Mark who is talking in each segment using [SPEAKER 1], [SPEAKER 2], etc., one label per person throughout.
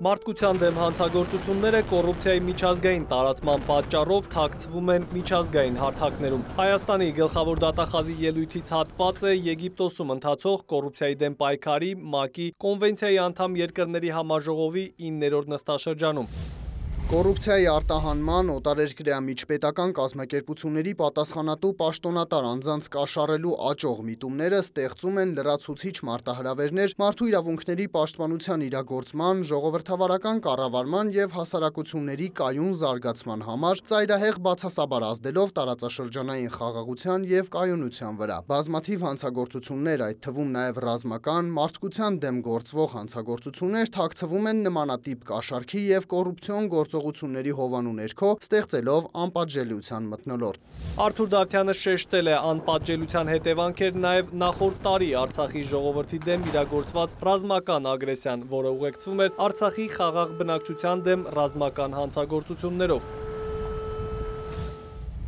[SPEAKER 1] Մարդկության դեմ հանցագործությունները կոռուպցիայի միջազգային տարածման պատճառով թաքցվում են միջազգային հարթակներում։ Հայաստանի գլխավոր դատախազի ելույթից հատված է Եգիպտոսում ընթացող կոռուպցիայի դեմ պայքարի ՄԱԿ-ի կոնվենցիայի անդամ երկրների համաժողովի 9-րդ նստաշրջանում։
[SPEAKER 2] Կոռուպցիայի արտահանման, օտարերկրյա միջպետական կազմակերպությունների պատասխանատու պաշտոնատար անձանց կաշառելու աճող միտումները ստեղծում են լրացուցիչ մարտահրավերներ մարդու իրավունքների պաշտպանության իրագործման, ժողովրդավարական կառավարման եւ հասարակությունների կայուն զարգացման համար, ծայրահեղ բացասաբար ազդելով տարածաշրջանային խաղաղության եւ կայունության վրա։ Բազմաթիվ հանցագործություններ, այդ թվում նաեւ ռազմական, մարդկության դեմ գործվող հանցագործություններ թաքցվում են նմանատիպ կաշառքի եւ կոռուպցիոն գործողությունների հովանու ներքո, ստեղծելով անպատժելիության մթնոլորտ։
[SPEAKER 1] Արթուր Դավթյանը շեշտել է անպատժելիության հետևանքեր նաև նախորդ տարի Արցախի ժողովրդի դեմ իրագործված ռազմական ագրեսիան, որը ուղեկցվում էր Արցախի խաղաղ բնակչության դեմ ռազմական հանցագործություններով։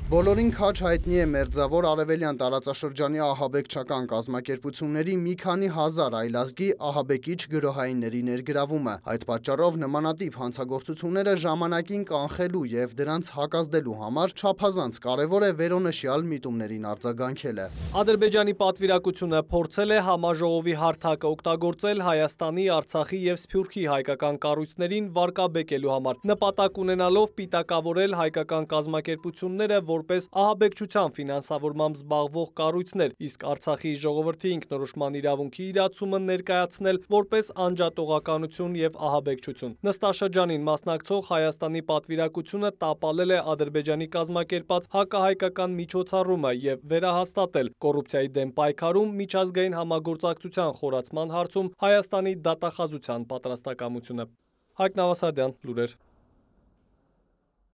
[SPEAKER 2] Բոլորին քաջ հայտնի է Մերձավոր Արևելյան տարածաշրջանի ահաբեկչական կազմակերպությունների մի քանի հազար այլազգի ահաբեկիչ գրոհայինների ներգրավումը։ Այդ պատճառով նմանատիպ հանցագործությունները ժամանակին կանխելու եւ դրանց հակազդելու համար չափազանց կարևոր է վերոնշյալ միտումներին արձագանքելը։
[SPEAKER 1] Ադրբեջանի պատվիրակությունը փորձել է համաժողովի հարթակը օգտագործել Հայաստանի, Արցախի եւ Սփյուռքի հայկական կառույցներին վարկաբեկելու համար, նպատակ ունենալով պիտակավորել հայկական կազմակերպությունները որպես ահաբեկչության ֆինանսավորմամբ զբաղվող կառույցներ, իսկ Արցախի ժողովրդի ինքնորոշման իրավունքի իրացումը ներկայացնել որպես անջատողականություն եւ ահաբեկչություն։ Նստաշրջանին մասնակցող Հայաստանի պատվիրակությունը տապալել է Ադրբեջանի կազմակերպած հակահայկական միջոցառումը եւ վերահաստատել կոռուպցիայի դեմ պայքարում միջազգային համագործակցության խորացման հարցում Հայաստանի դատախազության պատրաստակամությունը։ Հայկ Նավասարդյան, լուրեր։